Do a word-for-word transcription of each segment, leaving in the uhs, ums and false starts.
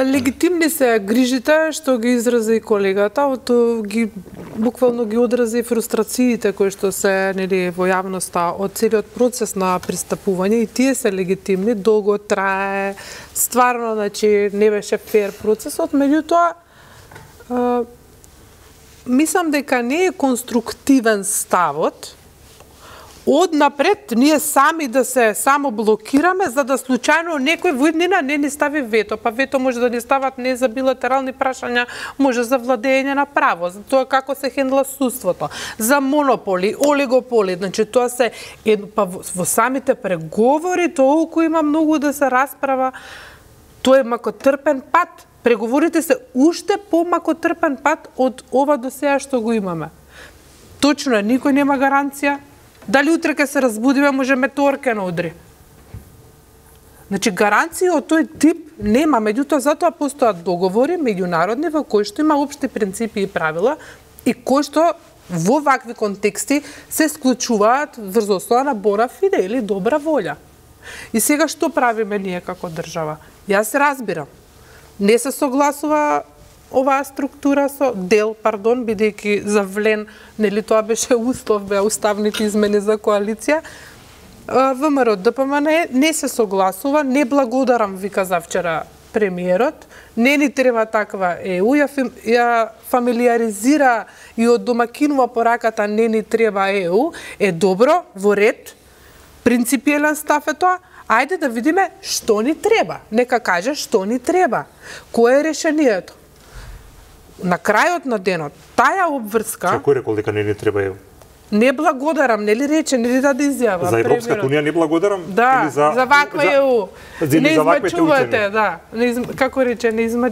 Легитимни се грижите што ги изрази и колегата, од ги буквално ги одрази фрустрациите кои што се нели во јавноста од целиот процес на пристапување, и тие се легитимни, долго трае, стварно значи не беше фер процесот, меѓутоа мислам дека не е конструктивен ставот однапред ние сами да се само блокираме за да случајно некој во иднина не ни стави вето, па вето може да ни стават не за билатерални прашања, може за владење на право, за тоа како се хендла судството, за монополи, олигополи, значи тоа се па во самите преговори толку има многу да се расправа, тоа е макотрпен пат. Преговорите се уште помакотрпен пат од ова до сега што го имаме. Точно е, никој нема гаранција. Дали утре ке се разбудиме, може метеорке на удри. Значи, гаранција од тој тип нема, меѓутоа затоа постојат договори меѓународни во кои што има општи принципи и правила и кои што во вакви контексти се склучуваат врз основа на бона фиде или добра волја. И сега што правиме ние како држава? Јас се разбирам. Не се согласува оваа структура со дел, пардон, бидејќи завлен, нели тоа беше услов, беа уставните измени за коалиција. ВМРО ДПМН не се согласува, не благодарам, вика завчера премиерот, не ни треба таква ЕУ, ја, ја фамилиаризира и од домакинува пораката не ни треба ЕУ, е добро, во ред, принципиелен став е тоа. Ајде да видиме што ни треба. Нека каже што ни треба. Кое е решението? На крајот на денот, таа обврска... Кој рекол дека не ни треба ЕУ? Не благодарам, нели рече, нели даде изјава. За Европската унија не благодарам? Да, или за, за ваква ЕУ. За, не измачувате, да. Не изм... Како рече, не изма...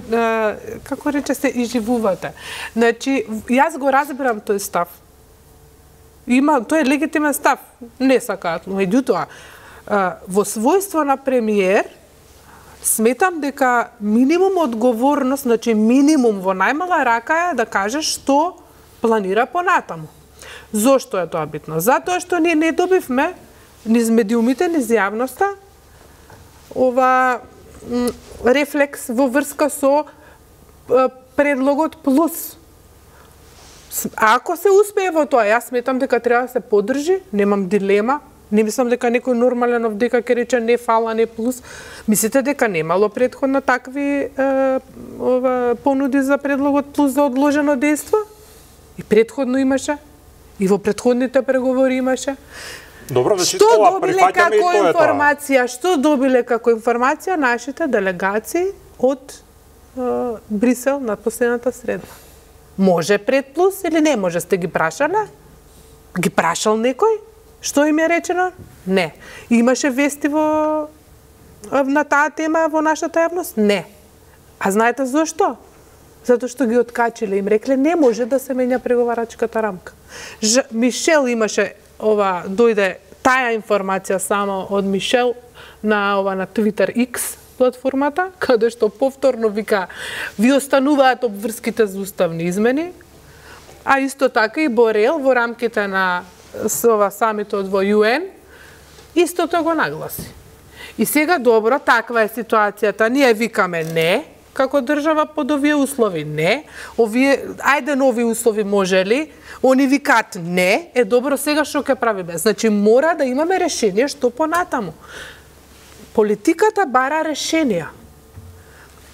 како рече се изживувате. Значи, јас го разбирам тој став. Има, тој е легитимен став. Не сакаат, но меѓутоа, во својство на премиер, сметам дека минимум одговорност, значи минимум во најмала рака е да каже што планира понатаму. Зошто е тоа битно? Затоа што ние не добивме низ медиумите, низ јавноста ова рефлекс во врска со предлогот плюс. Ако се успее во тоа, јас сметам дека треба да се поддржи, немам дилема. Не мислам дека некој нормален овдека ќе рече не фала, не плюс. Мислите дека немало претходно такви е, ова, понуди за предлогот плюс за одложено дејство? И претходно имаше. И во претходните преговори имаше. Добро, значи што ова добиле прифаќаме и како тоа е информација, тоа. Што добиле како информација нашите делегации од е, Брисел на последната среда? Може пред плюс или не може? Сте ги прашале? Ги прашал некој? Што им е речено? Не. Имаше вести во на таа тема во нашата јавност? Не. А знаете зошто? Затоа што ги откачиле, им рекле не може да се менја преговарачката рамка. Ж, Мишел имаше ова дојде таа информација само од Мишел на ова на Twitter X платформата, каде што повторно вика ви остануваат обврските за уставни измени, а исто така и Борел во рамките на со ова самитот во ЮН, истото го нагласи. И сега добро, таква е ситуацијата, ние викаме не, како држава под овие услови не, овие, ајде нови услови може ли, они викаат не, е добро, сега што ќе правиме? Значи мора да имаме решение што понатаму. Политиката бара решенија.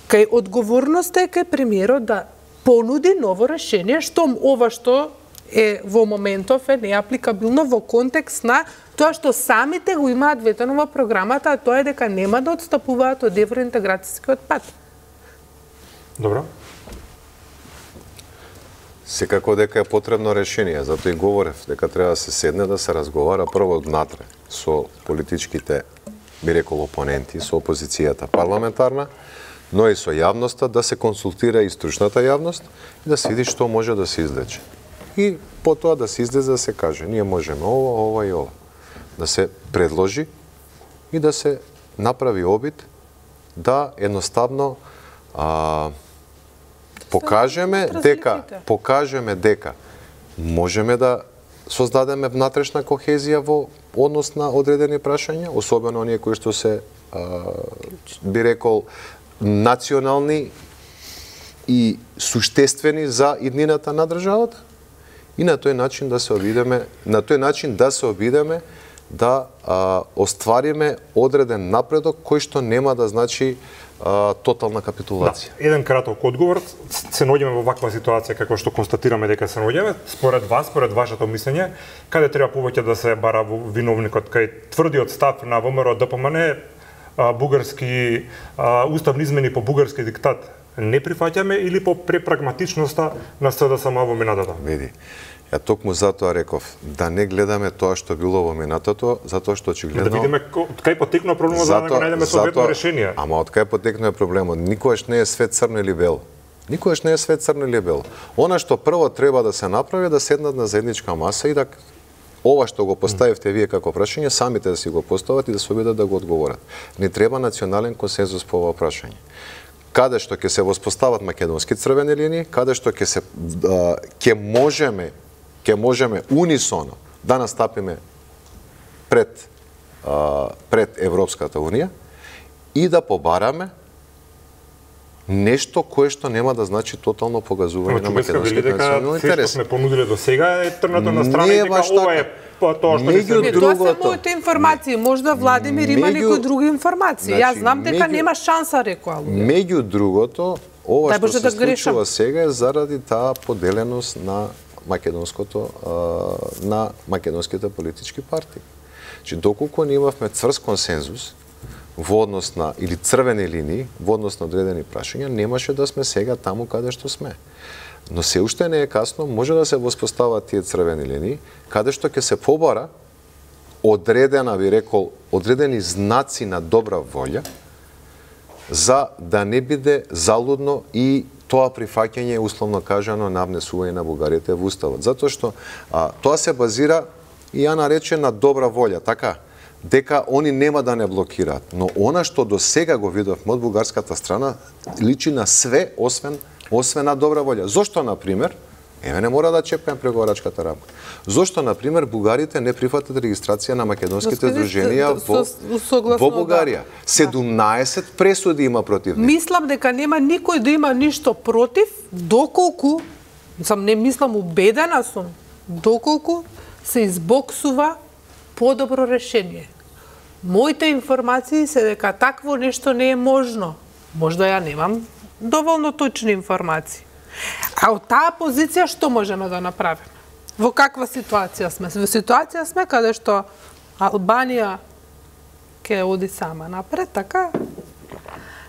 Кај одговорноста е кај премиерот да понуди ново решение, што ова што е во моментов е неапликабилно во контекст на тоа што самите го имаат ветено во програмата, а тоа е дека нема да отстапуваат од евроинтеграцијскиот пат. Добро. Секако дека е потребно решение, затоа и говорев дека треба да се седне да се разговара прво однатре со политичките, би рекол, опоненти, со опозицијата парламентарна, но и со јавноста, да се консултира и стручната јавност и да се види што може да се излече. И потоа да се излезе да се каже, ние можеме ова, ова и ова. Да се предложи и да се направи обид да едноставно а, покажеме дека покажеме дека можеме да создадеме внатрешна кохезија во однос на одредени прашања, особено оние кои што се а, би рекол национални и суштествени за иднината на државата и на тој начин да се обидеме, на тој начин да се обидеме да а, оствариме одреден напредок кој што нема да значи а, тотална капитулација. Да, еден краток одговор. Се наоѓаме во ваква ситуација како што констатираме дека се наоѓаме. Според вас, според вашето мислење, каде треба повеќе да се бара виновникот? Кај тврдиот став на ВМРО Д П М Н, бугарски а, уставни измени по бугарски диктат не прифаќаме или по препрагматичноста на С Д С М во минатото? Види, ја токму затоа реков да не гледаме тоа што било во минатото, затоа што очигледно да видиме од кај потекнува проблемот за да го најдеме соодветно решение. Ама од кај потекнува проблемот? Никогаш не е свет црно или бело. Никогаш не е свет црно или бело. Она што прво треба да се направи да седнат на заедничка маса и да ова што го поставивте вие како прашање, самите да си го постават и да се обидат да го одговорат. Не треба национален консензус по ова прашање. Каде што ќе се воспостават македонски црвени линии, каде што ќе се ќе можеме ќе можеме унисоно да настапиме пред пред Европската унија и да побараме нешто кое што нема да значи тотално погазување на македонските национални интереси. Се што сме понудиле до сега е трнато на страна и дека ова е тоа што не се тоа се моите информации, можда Владимир има некои други информации. Значи, Јас знам дека меѓу, нема шанса, рекоа луѓе. Меѓу другото, ова што се да случува сега е заради таа поделеност на македонското на македонските политички партии. Значи доколку не имавме цврст консензус во однос на или црвени линии во однос на одредени прашања, немаше да сме сега таму каде што сме. Но се уште не е касно, може да се воспостават тие црвени линии, каде што ќе се побара одредена, би рекол, одредени знаци на добра волја, за да не биде залудно и тоа прифаќање, условно кажано, на внесување на бугарите во Уставот. Затоа што а, тоа се базира и ја нарече на добра волја, така? Дека они нема да не блокираат. Но она што до сега го видовме од бугарската страна, личи на све, освен освен на добра волја. Зошто, например, еве не мора да чепнем преговарачката рамка. Зошто, например, бугарите не прифатат регистрација на македонските здруженија во, во Бугарија? седумнаесет пресуди има против нив. Мислам дека нема никој да има ништо против, доколку, сам не мислам, убедена сум, доколку се избоксува подобро решение. Моите информации се дека такво нешто не е можно. Можда ја немам доволно точни информации. А од таа позиција што можеме да направиме? Во каква ситуација сме? Во ситуација сме каде што Албанија ќе оди сама напред, така?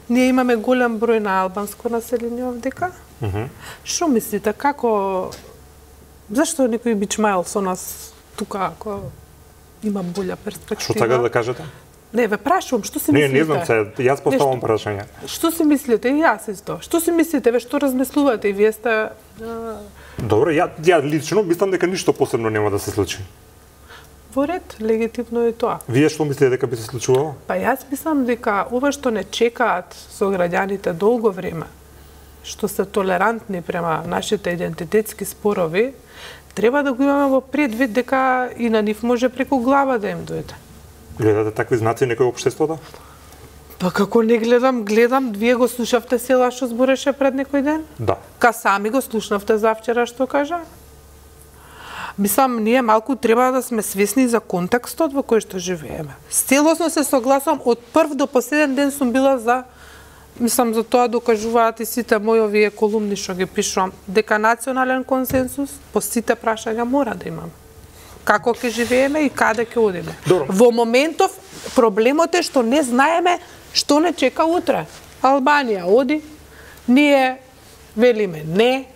Ние имаме голем број на албанско население овдека. Mm-hmm. Што мислите, како... Зашто некој бичмајл со нас тука, ако има болја перспектива? Што сакате да кажете? Не, ве прашувам, што си не, мислите? Не, не знам се, јас поставам прашање. Што си мислите? И јас исто. Што си мислите? Ве што размислувате? И вие сте... Добро, ја, ја лично мислам дека ништо посебно нема да се случи. Во ред, легитимно е тоа. Вие што мислите дека би се случувало? Па јас мислам дека ова што не чекаат со граѓаните долго време, што се толерантни према нашите идентитетски спорови, треба да го имаме во предвид дека и на нив може преку глава да им дојде. Гледате такви знаци некој општеството? Па како не гледам, гледам, вие го слушавте села што збореше пред некој ден? Да. Ка сами го слушнавте завчера што кажа? Мислам, ние малку треба да сме свесни за контекстот во кој што живееме. Целосно се согласувам, од прв до последен ден сум била за, мислам, за тоа докажуваат и сите мои овие колумни што ги пишувам, дека национален консенсус по сите прашања мора да имаме. Како ќе живееме и каде ќе одиме. Добро. Во моментов проблемот е што не знаеме што не чека утре. Албанија оди, ние велиме не,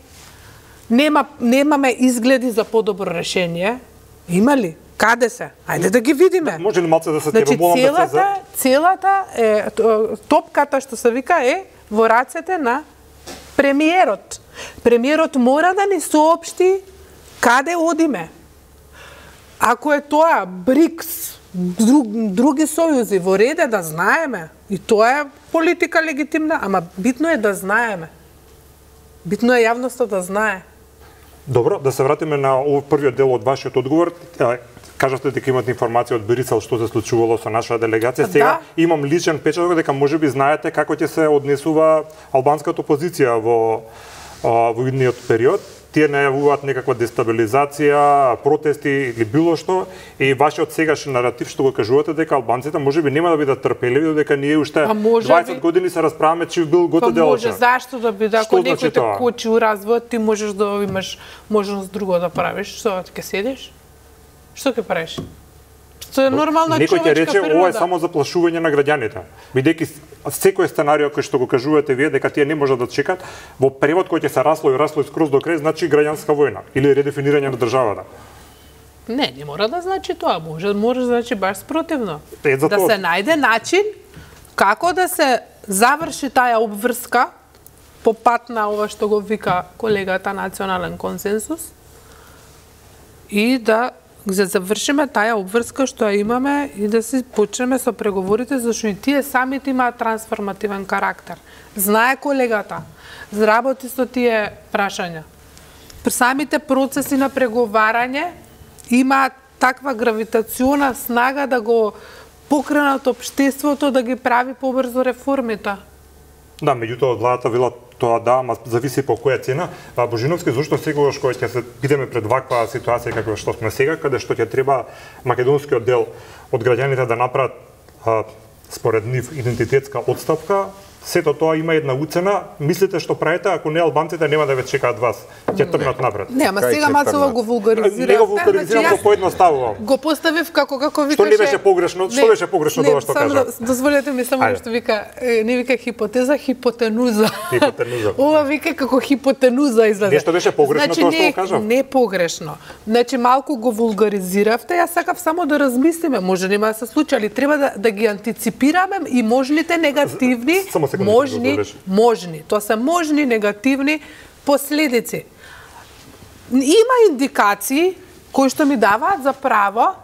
нема, немаме изгледи за подобро решение. Има ли? Каде се? Ајде да ги видиме. Може ли малце да се значи, тебе молам целата, да се за... целата е, топката што се вика е во рацете на премиерот. Премиерот мора да ни соопшти каде одиме. Ако е тоа БРИКС, друг, други сојузи, во реде да знаеме. И тоа е политика легитимна, ама битно е да знаеме. Битно е јавноста да знае. Добро, да се вратиме на овој првиот дел од вашиот одговор. кажавте дека имате информација од Брисел што се случувало со нашата делегација. Сега да. имам личен печат дека можеби знаете како ќе се однесува албанската опозиција во во идниот период. Тие најавуваат некаква дестабилизација, протести или било што, и вашиот сегашен наратив што го кажувате дека албанците можеби нема да бидат трпеливи, додека ние уште дваесет би... години се расправаме чив бил гото делче. Може, зашто да биде, ако некој те кочи у развојот, ти можеш да имаш можност друго да правиш, што ќе седиш? Што ќе правиш? Тоа е нормална човечка природа. Некој ќе рече, ова е само заплашување на граѓаните. Бидејќи секој сценарио кој што го кажувате вие дека тие не можат да чекат, во превод кој ќе се расло и расло скроз до крај, значи граѓанска војна или редефинирање на државата. Не, не мора да значи тоа, може, може да значи баш спротивно. Е, да се најде начин како да се заврши таа обврска по пат на ова што го вика колегата национален консенсус и да за завршиме таа обврска што ја имаме и да се почнеме со преговорите, зашто и тие самите имаат трансформативен карактер. Знае колегата, заработи со тие прашања. Самите процеси на преговарање имаат таква гравитациона снага да го покренат општеството да ги прави побрзо реформите. Да, меѓутоа владата вела тоа да, ама зависи по која цена. А Божиновски, зошто сегогаш кога ќе се бидеме пред ваква ситуација каква што сме сега, каде што ќе треба македонскиот дел од граѓаните да направат а, според нив идентитетска отставка, сето тоа има една уцена. Мислите што правите, ако не албанците нема да ве чекаат вас, ќе тргнат напред. Не, ама сега Мацова го вулгаризира. Не го вулгаризирам, го поедноставувам. Го поставив како како викаше. Што не беше погрешно? Што беше погрешно тоа што кажа? Не, дозволете ми само што вика, не вика хипотеза, хипотенуза. Хипотенуза. Ова вика како хипотенуза излезе. Нешто беше погрешно тоа што го кажав? Не погрешно. Значи малку го вулгаризиравте, јас сакав само да размислиме, може нема да се случи, али треба да да ги антиципираме и можните негативни можни, можни, тоа се можни негативни последици. Има индикации кои што ми даваат за право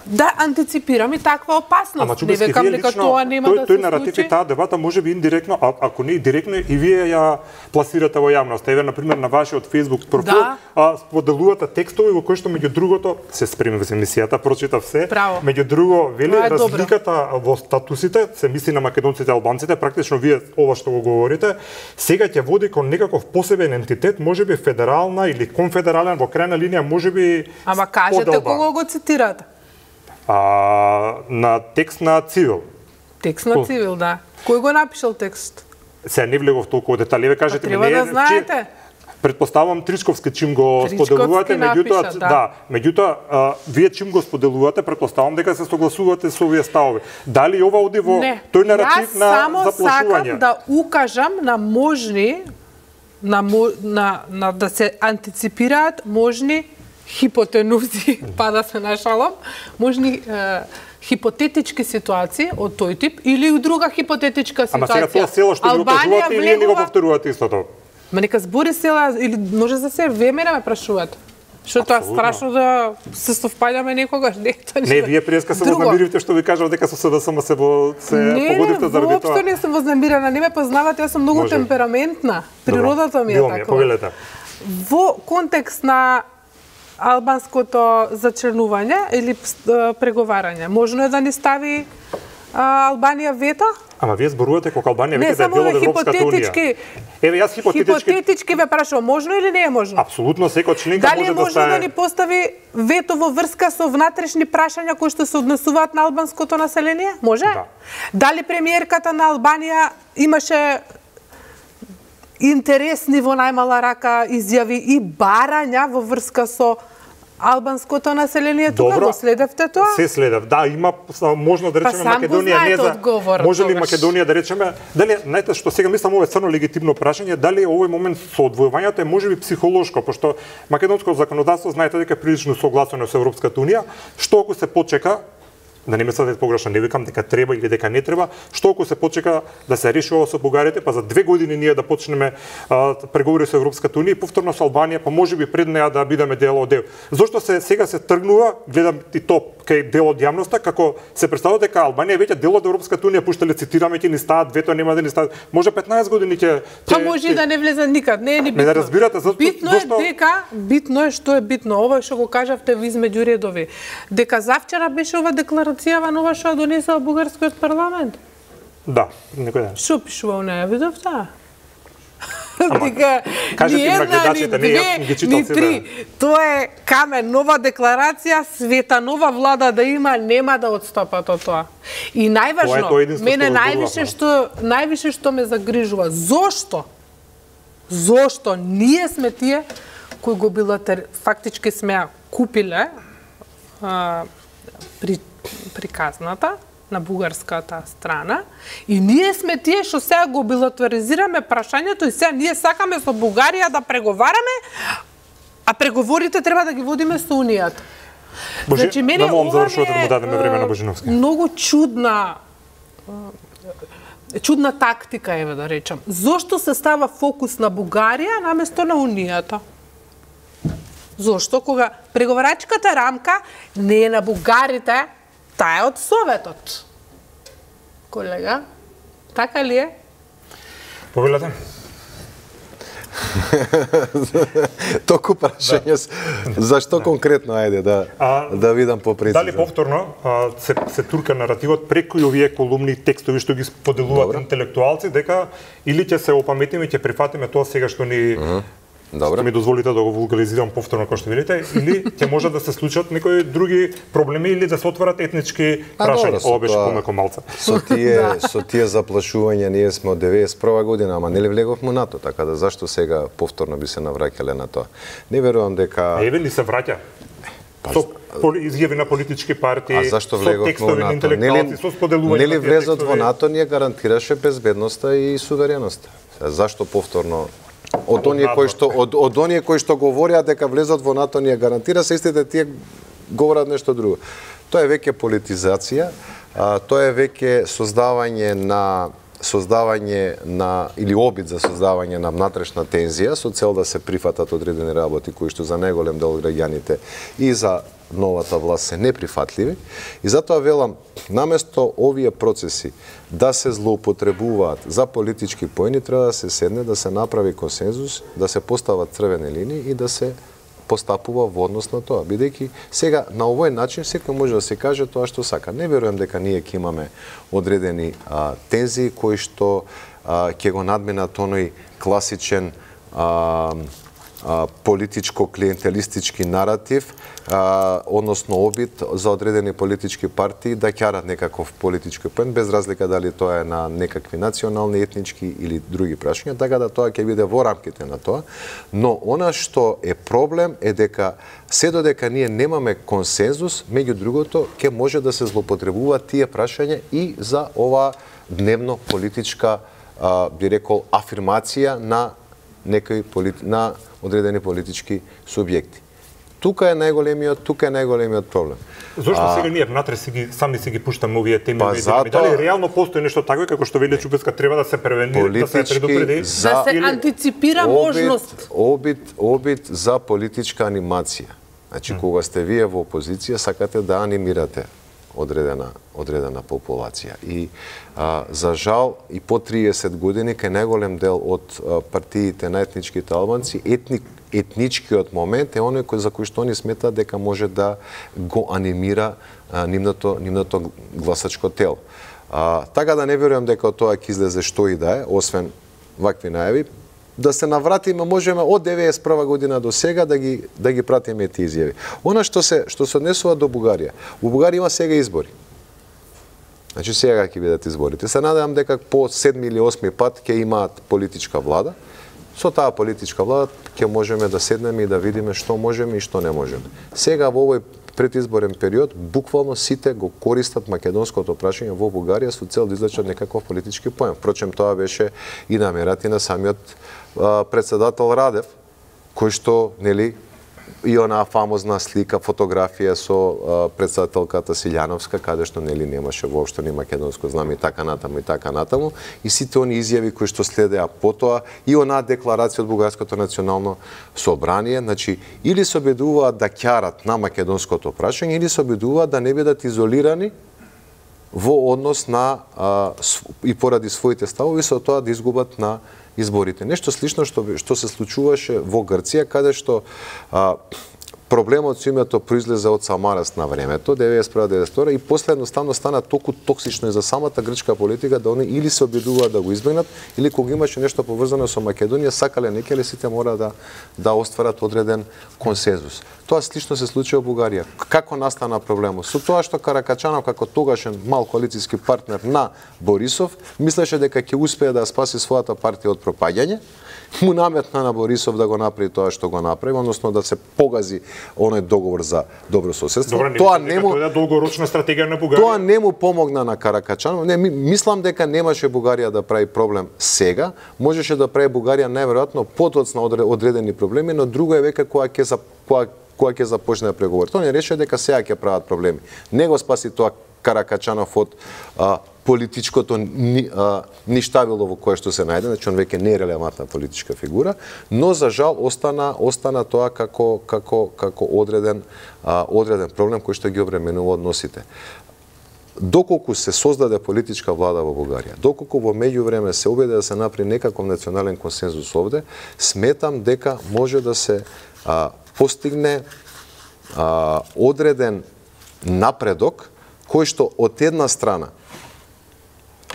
да антиципирам и таква опасност. Ама, не векам дека тоа нема тој, да се тој случи. наратив и таа дебата може би индиректно, а, ако не и директно, и вие ја пласирате во јавност. Еве, например, на вашиот Facebook профил, да. а, споделувате текстови во кои што меѓу другото се спремив за емисијата, прочитав се. Право. Меѓу друго, вели разликата добро. во статусите, се мисли на македонците и албанците, практично вие ова што го говорите, сега ќе води кон некаков посебен ентитет, можеби федерална или конфедерален, во крајна линија можеби. Ама кажете кого го цитирате? А, на текст на Цивил. Текст на Цивил, да. Кој го напишал текст? Се не влегов толку детали, ве кажете ми, не не да знаете. Чи, предпоставам Тричковски чим го Тричковски споделувате, меѓутоа напиша, да. да, да, меѓутоа вие чим го споделувате, предпоставам дека се согласувате со овие ставови. Дали ова оди во не. тој наратив на заплашување? Јас само сакам да укажам на можни на, на, на да се антиципираат можни хипотенузи, па да се нашалам, можни е, хипотетички ситуации од тој тип или у друга хипотетичка ситуација. Ама сега тоа село што го кажувате и вие не го повторувате истото. Ма нека збори села или може за се време ме прашуваат. Што тоа страшно да се совпаѓаме некогаш, не тоа не. Не, вие преска се вознамиривте што ви кажав дека со СДСМ се во се не, погодивте заради тоа. Не, воопшто не сум вознамирена, не ме познавате, јас сум многу може. Темпераментна. Природата ми е такова. Повелете. Во контекст на албанското зачрнување или преговарање, можно е да ни стави а, Албанија вето? Ама вие зборувате кога Албанија веќе да е дел од Европската унија. Еве јас хипотетички хипотетички ве прашувам, можно или не е можно? Апсолутно, секој членка може да може да да стане. Дали е можно да ни постави вето во врска со внатрешни прашања кои што се однесуваат на албанското население? Може? Да. Дали премиерката на Албанија имаше интересни во најмала рака изјави и барања во врска со албанското население? Тука го следевте тоа? Се следев. Да, има можно да речеме па, Македонија не за одговор, може ли тогаш. Македонија да речеме дали знаете што сега мислам ова е црно легитимно прашање, дали овој момент со одвојувањето е можеби психолошко, пошто македонското законодавство знаете дека е прилично согласено со Европската унија, што ако се почека да не ме сватите погрешно, не викам дека треба или дека не треба, што ако се почека да се реши ова со бугарите, па за две години ние да почнеме а, преговори со Европската унија и повторно со Албанија, па можеби пред неа да бидеме дел од дел. Зошто се сега се тргнува, гледам и то кај дел од јавноста, како се представува дека Албанија веќе дел од Европската унија, пуштале цитираме ќе ни стават вето, нема да ни стават. Може петнаесет години ќе Па може и да не влезе никад, не е ни битно. Не да разбирате зашто битно е дека, битно е што е битно, ова што го кажавте ви измеѓу редови. Дека завчера беше ова декларацијава нова што донесува бугарскиот парламент. Да, некој ден. Што пишува у неја, видовте? Ама, кажете им на гледачите, не ја ги читал себе. Тоа е камен, нова декларација, света нова влада да има, нема да одстапат од тоа. И најважно, мене највише што највише што ме загрижува, зошто? Зошто ние сме тие кои го билатер фактички сме ја купиле а, при приказната на бугарската страна и ние сме тие што сега го билатеризираме прашањето и сега ние сакаме со Бугарија да преговараме, а преговорите треба да ги водиме со Унијата. Божи, значи, мене да ова завршувате да му дадеме време на Божиновски. Многу чудна чудна тактика еве да речам. Зошто се става фокус на Бугарија наместо на Унијата? Зошто кога преговарачката рамка не е на бугарите, таа е од Советот. Колега, така ли е? Повелете. Току прашање, да. Зашто да. Конкретно, ајде, да, а, да видам попрецизно. Дали повторно а, се, се турка наративот преку и овие колумни текстови што ги споделуваат Добре. Интелектуалци, дека или ќе се опаметиме и ќе прифатиме тоа сега што ни uh-huh. Добре. Што ми дозволите да го вулгаризирам повторно, како што видите, или ќе може да се случат некои други проблеми или да се отворат етнички прашања. Ова беше помеко малце. Со тие со тие заплашувања ние сме од деветдесет и прва година, ама нели влеговме НАТО, така да зашто сега повторно би се навраќале на тоа? Не верувам дека Еве ни се враќа. Со изјави на политички партии, со текстови на интелектуалци, со споделување. Нели влезот во НАТО ни гарантираше безбедноста и сувереноста. Зашто повторно Од оние кои што од, од оние кои што говореа дека влезат во НАТО ни гарантира, се истите тие говорат нешто друго. Тоа е веќе политизација, а, тоа е веќе создавање на создавање на или обид за создавање на внатрешна тензија со цел да се прифатат одредени работи кои што за најголем дел граѓаните и за новата власт се неприфатливи. И затоа велам, наместо овие процеси да се злоупотребуваат за политички поени, треба да се седне, да се направи консензус, да се постават црвени линии и да се постапува во однос на тоа. Бидејќи сега на овој начин секој може да се каже тоа што сака. Не верувам дека ние ќе имаме одредени а, тензии кои што а, ќе го надминат оној класичен а, а, политичко-клиентелистички наратив, а, односно обид за одредени политички партии да ќарат некаков политички поен, без разлика дали тоа е на некакви национални, етнички или други прашања, така да тоа ќе биде во рамките на тоа. Но она што е проблем е дека се додека ние немаме консензус, меѓу другото, ќе може да се злоупотребуваат тие прашања и за ова дневно политичка, а, би рекол, афирмација на некои полит... на одредени политички субјекти. Тука е најголемиот, тука е најголемиот проблем. Зошто а, сега ние внатре си ги сами си ги пуштаме овие теми, па зато... дали реално постои нешто такво како што вели Чупеска, треба да се превенира, да се предупреди, за... да се или... антиципира обид, можност. Обид, обид за политичка анимација. Значи hmm. кога сте вие во опозиција, сакате да анимирате одредена одредена популација. И а, за жал и по триесет години кај најголем дел од а, партиите на етничките албанци, етник етничкиот момент е оној кој за кој што они сметаат дека може да го анимира а, нивното нивното гласачко тело. А, така да не верувам дека тоа ќе излезе што и да е, освен вакви најави. Да се навратиме, можеме од деветдесет и прва година до сега да ги да ги пратиме тие изјави. Она што се што се однесува до Бугарија. Во Бугарија има сега избори. Значи сега ќе бидат изборите. Се надевам дека по седми или осми пат ќе имаат политичка влада. Со таа политичка влада ќе можеме да седнеме и да видиме што можеме и што не можеме. Сега во овој предизборен период буквално сите го користат македонското прашање во Бугарија со цел да извлечат некаков политички поен. Впрочем, тоа беше и намерата на самиот а, председател Радев, кој што, нели, и онаа фамозна слика, фотографија со а, председателката Силјановска, каде што нели немаше воопшто ни македонско знаме и така натаму и така натаму, и сите они изјави кои што следеа потоа и онаа декларација од Бугарското национално собрание, значи или се обидуваат да ќарат на македонското прашање, или се обидуваат да не бидат изолирани во однос на а, и поради своите ставови со тоа да изгубат на изборите. Нешто слично што што се случуваше во Грција, каде што а, проблемот со името произлезе од Самарас на времето, деветдесет и прва деветдесет и втора, и после едноставно стана толку токсично и за самата грчка политика да они или се обидуваат да го избегнат, или кога имаше нешто поврзано со Македонија, сакале некеле сите мора да да остварат одреден консензус. Тоа слично се случи во Бугарија. Како настана проблемот? Со тоа што Каракачанов како тогашен мал коалициски партнер на Борисов мислеше дека ќе успее да спаси својата партија од пропаѓање, му наметна на Борисов да го направи тоа што го направи, односно да се погази оној договор за добро соседство. Добре, не тоа не му тоа е долгорочна стратегија на Бугарија. Тоа не му помогна на Каракачанов. Не, мислам дека немаше Бугарија да прави проблем сега, можеше да прави Бугарија најверојатно потоцна одредени проблеми, но друго е века кога ќе за кога кога ќе започне преговори. Тоа не рече дека сега ќе прават проблеми. Не го спаси тоа Каракачанов од а, политичкото ни, а, ништавило во кое што се најде, значи он веќе не е релевантна политичка фигура, но за жал остана остана тоа како како како одреден а, одреден проблем кој што ги обременува односите. Доколку се создаде политичка влада во Бугарија, доколку во меѓувреме се обиде да се направи некаков национален консензус овде, сметам дека може да се а, постигне а, одреден напредок кој што од една страна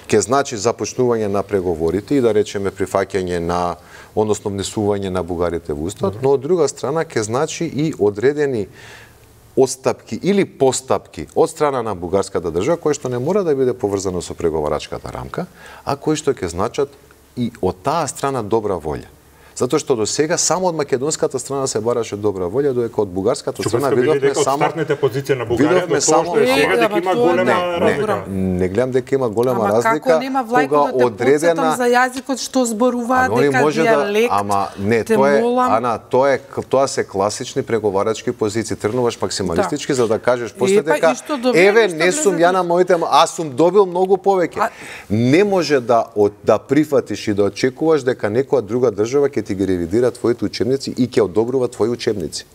ќе значи започнување на преговорите и да речеме прифаќање на, односно внесување на бугарите во уставот, но од друга страна ќе значи и одредени отстапки или постапки од страна на бугарската држава, кој што не мора да биде поврзано со преговарачката рамка, а кои што ќе значат и од таа страна добра волја. Затоа што до сега само од македонската страна се бараше добра волја, додека од бугарската страна видовме само стартните позиции на Бугарија до тоа што е сега дека има голема разлика. Не гледам дека има голема ама разлика. Како нема влајко да те одредена... подсетам за јазикот што зборуваат дека дијалект. Да, ама не, тоа е, молам... Ана, тоа е тоа се класични преговарачки позиции. Тргнуваш максималистички да. За да кажеш после Епа, дека еве не сум ја на моите, аз сум добил многу повеќе. А... Не може да од, да прифатиш и да очекуваш дека некоја друга држава ќе ти ги ревидира твоите учебници и ќе одобрува твои учебници.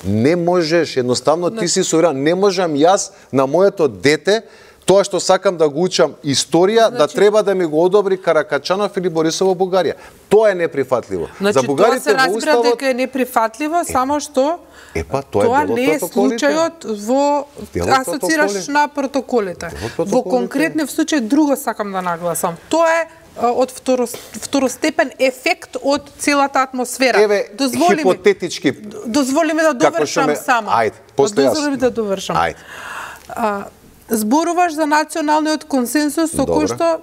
Не можеш, едноставно ти си суверен. Не можам јас на моето дете тоа што сакам да го учам историја, значи, да треба да ми го одобри Каракачанов или Борисов во Бугарија. Тоа е неприфатливо. Значи, за бугарите тоа се разбира уставот... дека е неприфатливо, е, само што епа, тоа, тоа не е случајот во асоцираш на протоколите. Во конкретни случај друго сакам да нагласам. Тоа е од второ, второстепен ефект од целата атмосфера. Еве, дозволи хипотетички. Ми, дозволи ми да довршам ме... само. Ајде, после јас. Дозволи ми да довршам. Ајде. А, зборуваш за националниот консенсус со кој што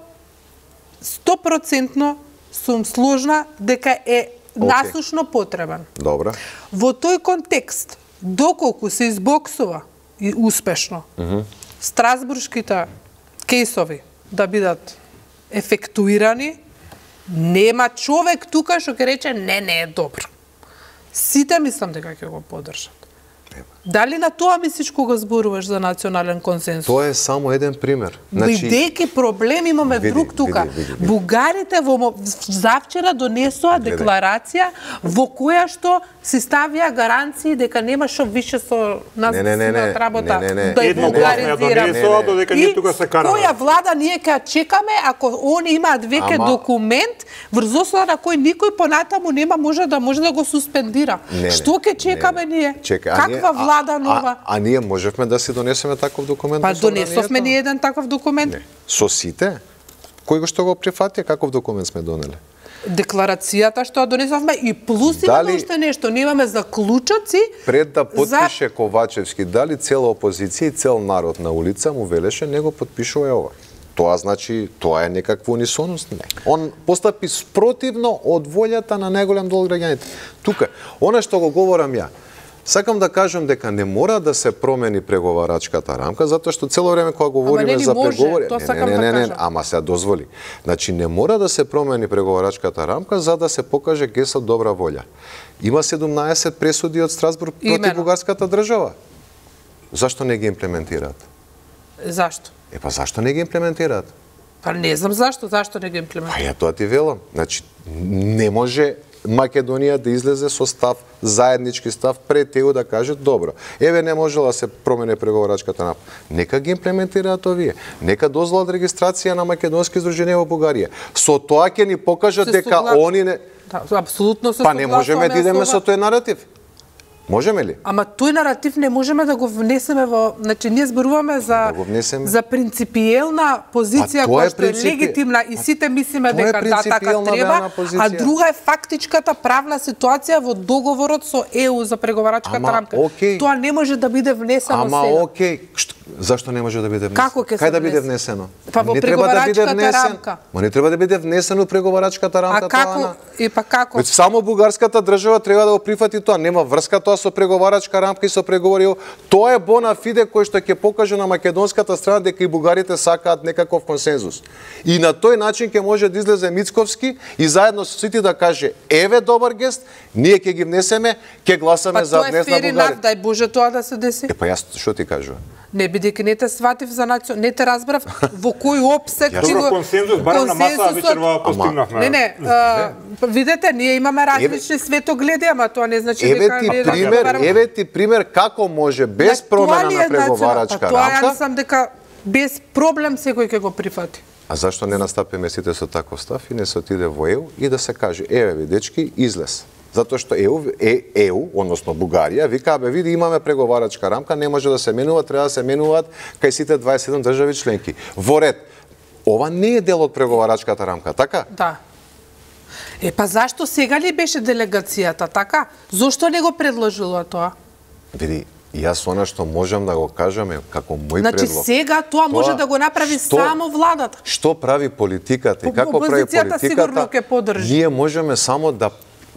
сто проценти сум сложна дека е okay. насушно потребен. Добра. Во тој контекст, доколку се избоксува и успешно uh -huh. страсбуршките кейсови да бидат ефектуирани, нема човек тука што ќе рече не, не е добро. Сите мислам дека ќе го поддржат. Дали на тоа мислиш кога зборуваш за национален консенсус? Тоа е само еден пример. Значи, бидејќи проблем имаме види, друг тука. Види, види, види. Бугарите во завчера донесоа декларација во која што се ставија гаранции дека нема што више со нас не, не, не, не, работа не, не, не. да ја бугаризираме. Додека ние тука се караме. Која влада ние ќе чекаме ако они имаат веќе Ама... документ врз основа на кој никој понатаму нема може да може да го суспендира. Не, што ќе чекаме не, ние? Чека, Каква влада нова? А, а, а ние можевме да си донесеме таков документ? Па донесовме ние еден таков документ. Не. Со сите? Кој го што го прифати, каков документ сме донели? Декларацијата што ја донесовме и плюс дали, имаме уште нешто, немаме заклучоци. Пред да потпише за... Ковачевски, дали цела опозиција и цел народ на улица му велеше, не го потпишува ова. Тоа значи, тоа е некаква унисоност. Не. Он постапи спротивно од волјата на најголем дел граѓаните. Тука, она што го говорам ја, Сакам да кажам дека не мора да се промени преговарачката рамка, затоа што цело време кога говориме за преговори, не, не, не, не, не, ама се дозволи. Значи не мора да се промени преговарачката рамка за да се покаже гест од добра волја. Има седумнаесет пресуди од Страсбург против бугарската држава. Зашто не ги имплементираат? Зашто? Е па зашто не ги имплементираат? Па не знам зашто, зашто не ги имплементираат. Па ја тоа ти велам. Значи не може Македонија да излезе со став, заеднички став пред ЕУ да каже добро. Еве не можела да се промени преговарачката рамка. Нека ги имплементираат овие. Нека дозволат регистрација на македонски здруженија во Бугарија. Со тоа ќе ни покажат се дека согла... они не Да, апсолутно се Па не можеме да идеме со тој наратив. Можеме ли? Ама тој наратив не можеме да го внесеме во, значи ние зборуваме за да за принципиелна позиција која што е принципи... легитимна и сите мислиме дека да така треба, а друга е фактичката правна ситуација во договорот со ЕУ за преговарачката Ама, рамка. Окей. Тоа не може да биде внесено Ама, сега. Ама окей, Што... зашто не може да биде внесено? Како ќе се Кај да биде внесено? Па во не треба да биде внесен. рамка. Ма не треба да биде внесено преговарачката рамка. А како? Тоа, и па како? Веќе само бугарската држава треба да го прифати тоа. Нема врска тоа со преговарачка рамка и со преговори. Тоа е бона фиде кој што ќе покаже на македонската страна дека и бугарите сакаат некаков консензус. И на тој начин ќе може да излезе Мицковски и заедно со сите да каже еве добар гест, ние ќе ги внесеме, ќе гласаме па за внес на Бугарија. Дај Боже тоа да се деси. Е па јас што ти кажувам? Не бидејќи не те сватив за национ, не те разбрав во кој опсек ти го консензус барем на маса вечерва постигнавме. Не, не, а, видете, ние имаме различни светогледи, ама тоа не значи еве дека ти не пример, еве ти пример како може без промена на преговарачка рамка. Тоа ја мислам дека без проблем секој ќе го прифати. А зашто не настапиме сите со таков став и не се отиде во ЕУ и да се каже еве ви дечки излез. Затоа што ЕУ, е, ЕУ, односно Бугарија, вика, бе, види, имаме преговарачка рамка, не може да се менува, треба да се менуваат кај сите дваесет и седум држави членки. Во ред. Ова не е дел од преговарачката рамка, така? Да. Е, па зашто сега ли беше делегацијата, така? Зошто не го предложила тоа? Види, јас она што можам да го кажам е како мој значи, предлог. Значи сега тоа, тоа може да го направи што, само владата. Што прави политиката и како прави политиката, сигурно ќе поддржи. Ние можеме само да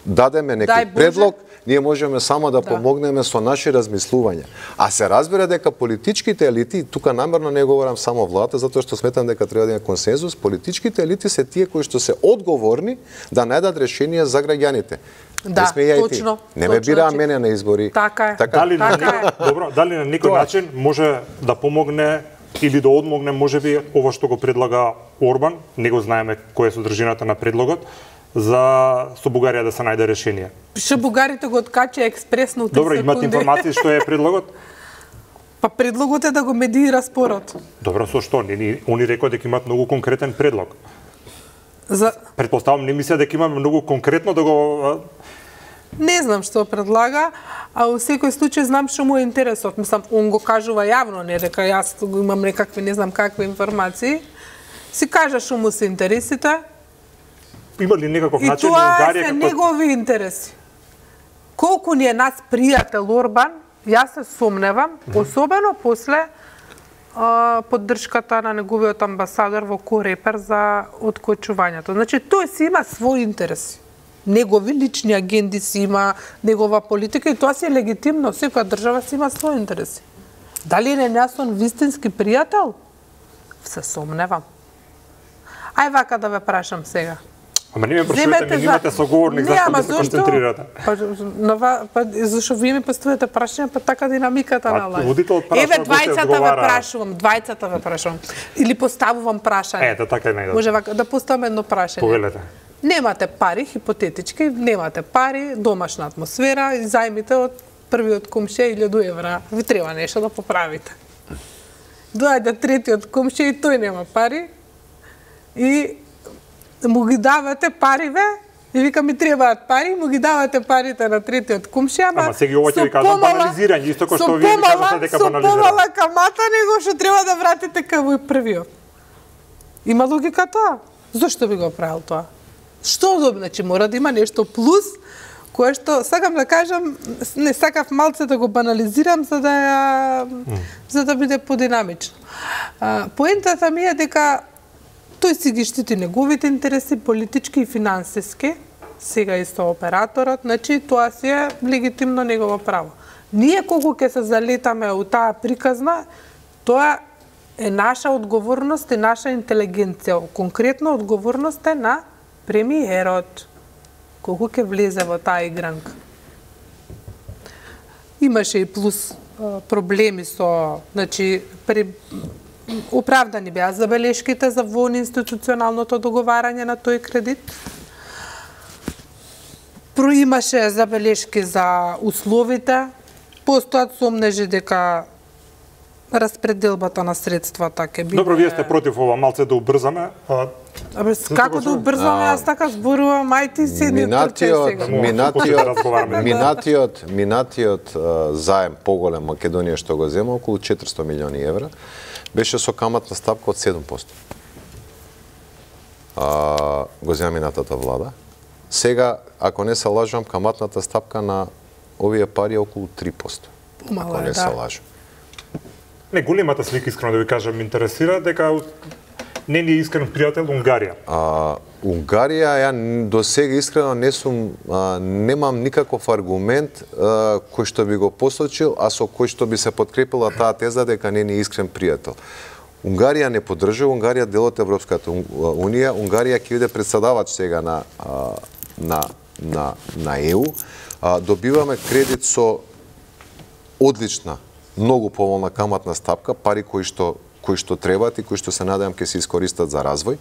дадеме некој предлог, ние можеме само да, да помогнеме со наши размислувања. А се разбира дека политичките елити, тука намерно не говорам само владата, затоа што сметам дека треба да има консензус, политичките елити се тие кои што се одговорни да најдат решение за граѓаните. Да, не точно. Не ме бираа мене на избори. Така е. Така. Дали, така на некој, добро, дали на некој начин може да помогне или да одмогне можеби ова што го предлага Орбан, не го знаеме која е содржината на предлогот, за со Бугарија да се најде решение. Што бугарите го откача експресно. Добро, имате информации што е предлогот? Па предлогот е да го медиира спорот. Добро, со што? Они, они рекоа дека имаат многу конкретен предлог. За... Предпоставам, не мисля дека имаме многу конкретно да го... Не знам што предлага, а во секој случај знам што му е интересот. Мислам, он го кажува јавно, не дека јас имам некакви, не знам какви информации. Си кажа што му се интересите. Има ли некаков и начин Унгарија Унгарија како... негови интереси. Колку ни е нас пријател Орбан, јас се сомневам, mm -hmm. особено после а, поддршката на неговиот амбасадор во Корепер за откочувањето. Значи, тој си има своји интереси. Негови лични агенди си има, негова политика и тоа си е легитимно. Секоја држава си има своји интереси. Дали е нејасон вистински пријател? Се сомневам. Ај вака да ве прашам сега. Ама не ме прашувате, не имате соговорник, зашто да се концентрирате? Па, нова, па зашто вие ми поставите прашања, па така динамиката на лај. Еве двајцата ве прашувам, двајцата ве прашувам. Или поставувам прашање. Ето, така е најдобро. Може вака, да поставам едно прашање. Повелете. Немате пари, хипотетички, немате пари, домашна атмосфера, и зајмите од првиот комшија илјаду евра. Ви треба нешто да поправите. Доаѓа третиот комшија и тој нема пари. И му ги давате париве, и вика ми требаат пари, му ги давате парите на третиот комшија, ама сега ова ќе ви кажам банализирање, исто кој што вие ми кажате дека банализирање. Со помала камата него што треба да вратите кај првиот. Има логика тоа? Зошто би го правил тоа? Што удобно, значи мора да има нешто плюс, кое што, сакам да кажам, не сакав малце да го банализирам, за да ја, mm. за да биде подинамично. А, поентата ми е дека тој си ги штити неговите интереси, политички и финансиски, сега исто операторот, значи тоа си е легитимно негово право. Ние колку ќе се залетаме у таа приказна, тоа е наша одговорност и наша интелигенција. Конкретно одговорност е на премиерот. Колку ќе влезе во таа игранка. Имаше и плюс проблеми со, значи, при... оправдани беа забелешките за воинституционалното договарање на тој кредит. Проимаше забелешки за условите, постојат сомнежи дека распределбата на средствата ќе биде... Добро, вие сте против ова, малце да убрзаме. А... Абе, како да убрзаме, јас така зборувам, ајти си не минатиот, сега. минатиот, минатиот, минатиот заем поголем Македонија што го зема, околу четиристо милиони евра, беше со каматна стапка од седум проценти. А, го зема минатата влада. Сега, ако не се лажам, каматната стапка на овие пари е околу три проценти. Ако не се лажам. Не, големата слика, искрено да ви кажам, интересира дека не ни е искрен пријател Унгарија. А, Унгарија, ја до сега искрено не сум, а, немам никаков аргумент а, кој што би го посочил, а со кој што би се подкрепила таа теза дека не ни е искрен пријател. Унгарија не поддржува, Унгарија дел од Европската унија, Унгарија ќе биде председавач сега на а, на на на Е У. А, добиваме кредит со одлична, многу поволна каматна стапка, пари кои што кои што требаат и кои што се надевам ќе се искористат за развој,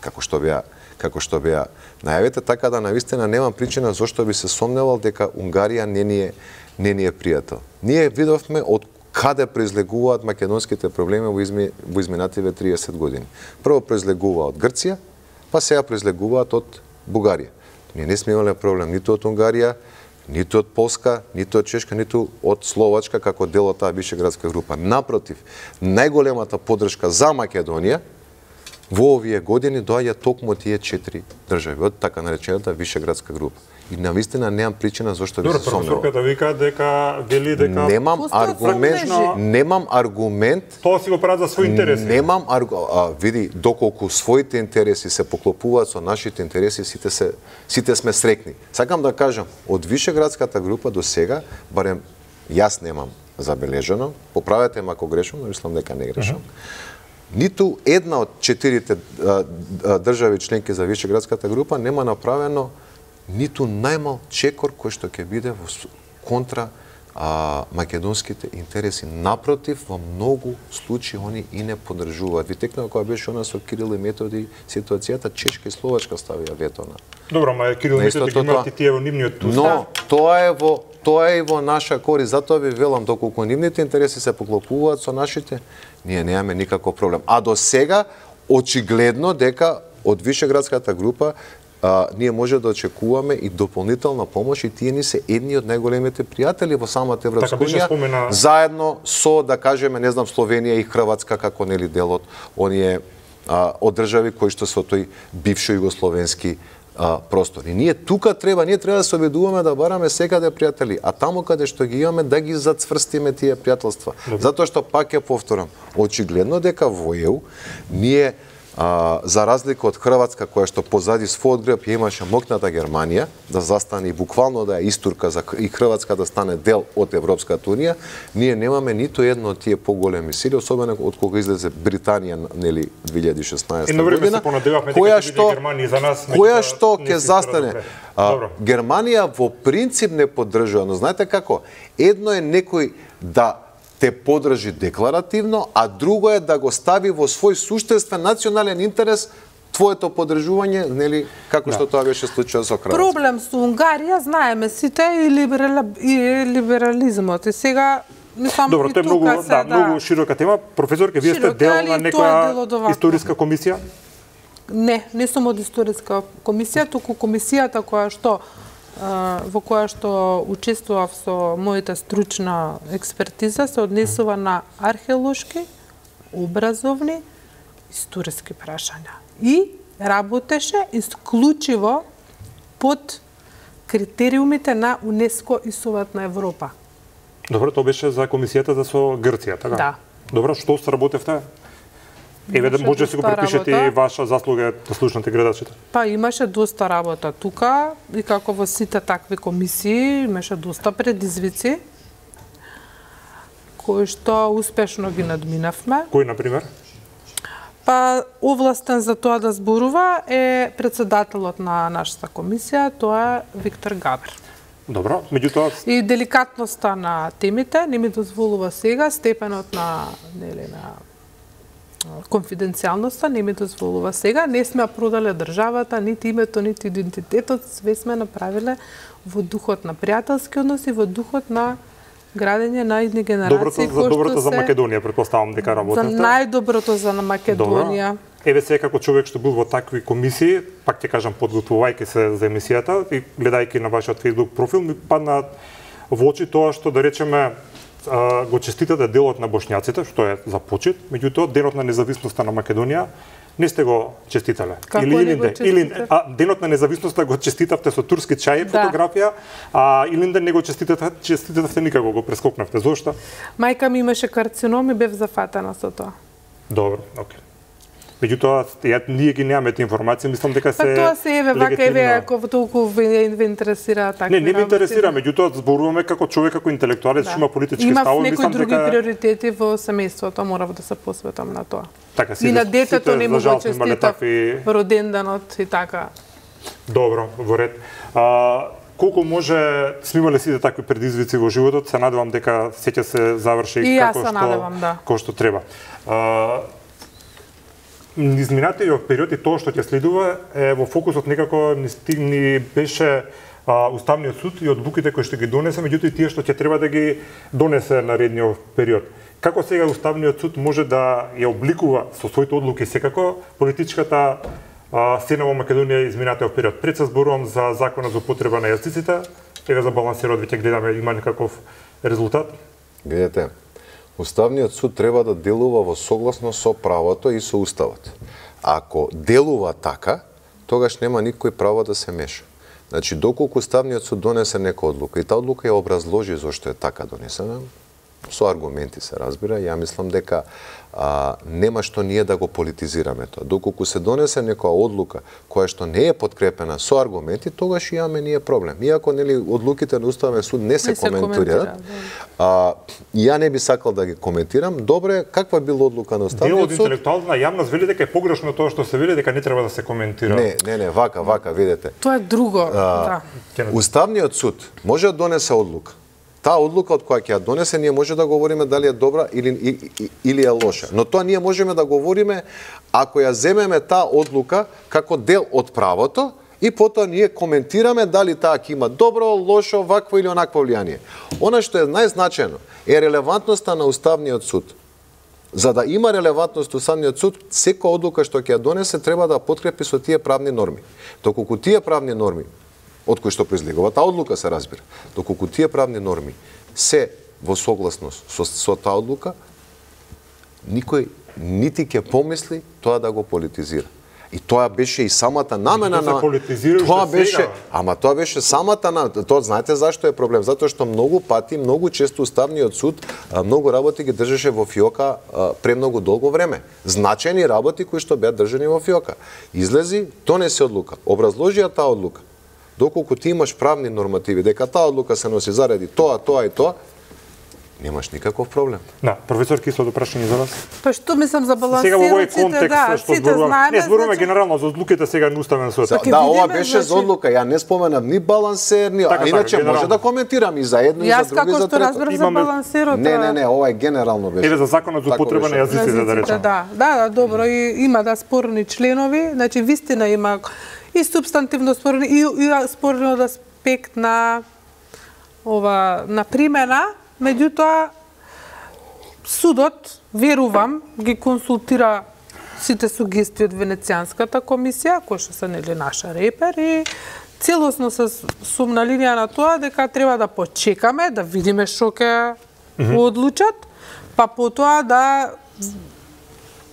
како што беа како што беа најавите, така да навистина немам причина зошто би се сомневал дека Унгарија не ни е не ни е пријател. Ние видовме од каде произлегуваат македонските проблеми во, изми, во изминативе триесет години. Прво произлегува од Грција, па сега произлегуваат од Бугарија. Ние не сме имале проблем ниту од Унгарија, ниту од Полска, ниту од Чешка, ниту од Словачка како дел од таа вишеградска група. Напротив, најголемата поддршка за Македонија во овие години доаѓа токму од тие четири држави, од така наречената вишеградска група. И навистина немам причина зошто би се сомневал. Добро, професорката вика дека вели дека немам аргумент, немам аргумент. Тоа си го прават за своји интереси. Немам аргумент, види доколку своите интереси се поклопуваат со нашите интереси, сите се сите сме срекни. Сакам да кажам, од вишеградската група до сега, барем јас немам забележано, поправете ме ако грешам, но мислам дека не грешам. Uh -huh. Ниту една од четирите а, а, држави членки за вишеградската група нема направено ниту најмал чекор кој што ќе биде во контра а, македонските интереси. Напротив, во многу случаи они и не поддржуваат. Ви текнува кога беше она со Кирил и Методи ситуацијата, Чешка и Словачка ставија вето на. Добро, ма Кирил и Методи ги имаат и тие во нивниот устав. Но тоа е во тоа е и во наша корист, затоа ви велам доколку нивните интереси се поклопуваат со нашите, ние немаме никаков проблем. А до сега очигледно дека од вишеградската група А, ние може да очекуваме и дополнителна помош и тие ни се едни од најголемите пријатели во самата Европска унија, спомена... заедно со, да кажеме, не знам, Словенија и Хрватска како нели дел од оние а, од држави кои што се од тој бившо југословенски а, простор. И ние тука треба, ние треба да се обидуваме да бараме секаде пријатели, а таму каде што ги имаме да ги зацврстиме тие пријателства. Затоа што пак ќе повторам, очигледно дека во Е У ние А, за разлика од Хрватска, која што позади својот грб ја имаше мокната Германија, да застане и буквално да ја истурка за и Хрватска да стане дел од Европската унија, ние немаме ниту едно од тие поголеми сили, особено од кога излезе Британија, нели, две илјади и шеснаесета година, која што за нас која што ќе застане. А, Германија во принцип не поддржува, но знаете како? Едно е некој да те подржи декларативно, а друго е да го стави во свој суштествен национален интерес твоето поддржување, нели, како да. Што тоа беше случајот со Хрватска. Проблем со Унгарија, знаеме сите, и, либерали... и либерализмот. И сега, мислам, добро, и тоа е многу, тука се, да, да, многу широка тема. Професорке, вие сте дел на некоја историска комисија? Не, не сум од историска комисија, туку комисијата која што во која што учествував со мојата стручна експертиза се однесува на археолошки, образовни, историски прашања. И работеше исклучиво под критериумите на УНЕСКО и Совет на Европа. Добро, тоа беше за комисијата за со Грција, така? Да. Добро, што сработевте? Еве да може да си го припишете и ваша заслуга да слушнате гледачите. Па имаше доста работа тука и како во сите такви комисии имаше доста предизвици кои што успешно ги надминавме. Кој, например? Па, овластен за тоа да зборува е председателот на нашата комисија, тоа е Виктор Габер. Добро, меѓутоа... И деликатноста на темите не ми дозволува сега, степенот на, нели, на конфиденцијалноста не ми дозволува сега. Не сме продале државата, нити името, нити идентитетот, све сме направиле во духот на пријателски односи, во духот на градење на идни генерации. Доброто, за доброто за Македонија, претпоставам дека работите. За најдоброто за Македонија. Добро. Еве сега како човек што бил во такви комисии, пак ќе кажам подготвувајќи се за емисијата и гледајќи на вашиот Facebook профил, ми падна во очи тоа што да речеме го честитате делот на бошњаците, што е за почит, меѓутоа денот на независноста на Македонија не сте го честитале. Како или не го Илинде, или а денот на независноста го честитавте со турски чај, да. Фотографија, а Илинде не го честитавте, честитавте никако, го прескокнавте. Зошто? Мајка ми имаше карцином и бев зафатена со тоа. Добро, окей. Меѓутоа, ја, ние ги немаме тие информации, мислам дека се... Па тоа се еве, вака еве, ако толку ве, ве интересира такви Не, не ме интересира, меѓутоа зборуваме како човек, како интелектуалец, што има политички ставови, мислам дека... Имав некои други дека... приоритети во семејството, морав да се посветам на тоа. Така, и на детето не му го честитав такви... роденденот и така. Добро, во ред. А, колку може сме имале сите такви предизвици во животот, се надевам дека сеќа се заврши и како што, надевам, да. како што треба. А, Изминатиот период и тоа што ќе следува е во фокусот некако ни стигни беше а, Уставниот суд и одлуките кои што ги донесе, меѓутоа и тие што ќе треба да ги донесе наредниот период. Како сега Уставниот суд може да ја обликува со своите одлуки секако политичката а, сцена во Македонија изминатиот период? Пред се зборувам за законот за употреба на јазиците, еве за балансирот веќе гледаме има некаков резултат. Гледате, Уставниот суд треба да делува во согласно со правото и со уставот. Ако делува така, тогаш нема никој право да се меша. Значи, доколку Уставниот суд донесе нека одлука и таа одлука ја образложи зошто е така донесена, со аргументи се разбира, ја мислам дека а, нема што ние да го политизираме тоа. Доколку се донесе некоја одлука која што не е подкрепена со аргументи, тогаш имаме ние проблем. Иако нели одлуките на Уставен суд не се, се коментираат, а, ја не би сакал да ги коментирам. Добре, каква била одлука на Уставниот суд? Дел од интелектуална јавност вели дека е погрешно тоа што се вели, дека не треба да се коментира. Не, не, не, вака, вака, видете. Тоа е друго, а, да. Уставниот суд може да донесе одлука. Таа одлука од која ќе ја донесе, ние може да говориме дали е добра или, или е лоша. Но тоа ние можеме да говориме ако ја земеме таа одлука како дел од правото и потоа ние коментираме дали таа ќе има добро, лошо, вакво или онакво влијание. Она што е најзначено е релевантноста на Уставниот суд. За да има релевантност Уставниот суд, секоја одлука што ќе ја донесе треба да подкрепи со тие правни норми. Доколку тие правни норми од кои што произлегува таа одлука се разбира. Доколку тие правни норми се во согласност со, со таа одлука, никој нити ќе помисли тоа да го политизира. И тоа беше и самата намена на тоа беше, ама тоа беше самата на тоа знаете зашто е проблем? Затоа што многу пати, многу често Уставниот суд многу работи ги држеше во фиока премногу долго време. Значајни работи кои што беа држани во фиока. Излези, донесе одлука, образложија таа одлука. Доколку ти имаш правни нормативи дека таа одлука се носи заради тоа, тоа и тоа, немаш никаков проблем. Да, професор Кисло, прашање за вас. Па што мислам за балансираните, сега во овој контекст да, што зборуваме, не зборуваме значи... генерално за одлуките сега на Уставен суд. Да, да, ова беше значи... за одлука, ја не споменав ни балансер, ни, така, а иначе така, може да коментирам и за едно и за друго и за трето. Јас како што разбрав за балансерот. Не, не, не, ова е генерално беше. Еве за законот за употреба на јазиците да речеме. Да, да, да, добро, и има да спорни членови, значи вистина има и субстантивно спорни и, и спорни од аспект на ова на примена, меѓутоа судот, верувам, ги консултира сите сугестии од Венецијанската комисија, која што се нели наша репер и целосно се сум на линија на тоа дека треба да почекаме, да видиме што ќе mm-hmm. одлучат, па потоа да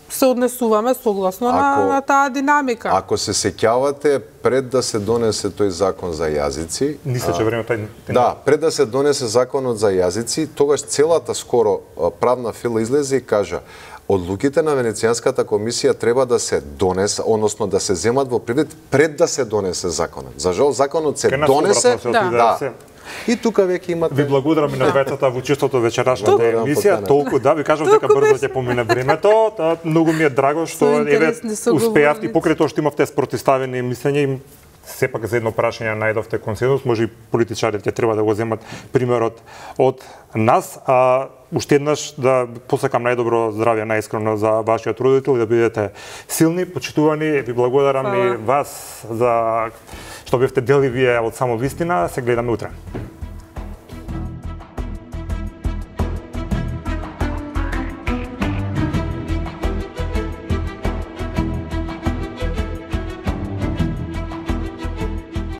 се однесуваме согласно ако, на, на таа динамика. Ако се сеќавате, пред да се донесе тој закон за јазици... Мислече време тај... Да, пред да се донесе законот за јазици, тогаш целата скоро правна фила излезе и кажа одлуките на Венецијанската комисија треба да се донесе, односно да се земат во предвид пред да се донесе законот. За жал законот се Ке донесе, да. да, И тука веќе имате... Ви благодарам и на двајцата во чистото вечерашната Благодарам, емисија. покана. Толку да ви кажам дека брзо ќе помине времето. Та, многу ми е драго што Со еве интересни соговорници. успеавте и покрај тоа што имавте спротивставени мислења и сепак за едно прашање најдовте консензус, може и политичарите треба да го земат примерот од нас. А уште еднаш да посакам најдобро здравје најискрено за вашиот родител и да бидете силни, почитувани. Ви благодарам Хвала. и вас за што бевте дели вие од само вистина. Се гледаме утре.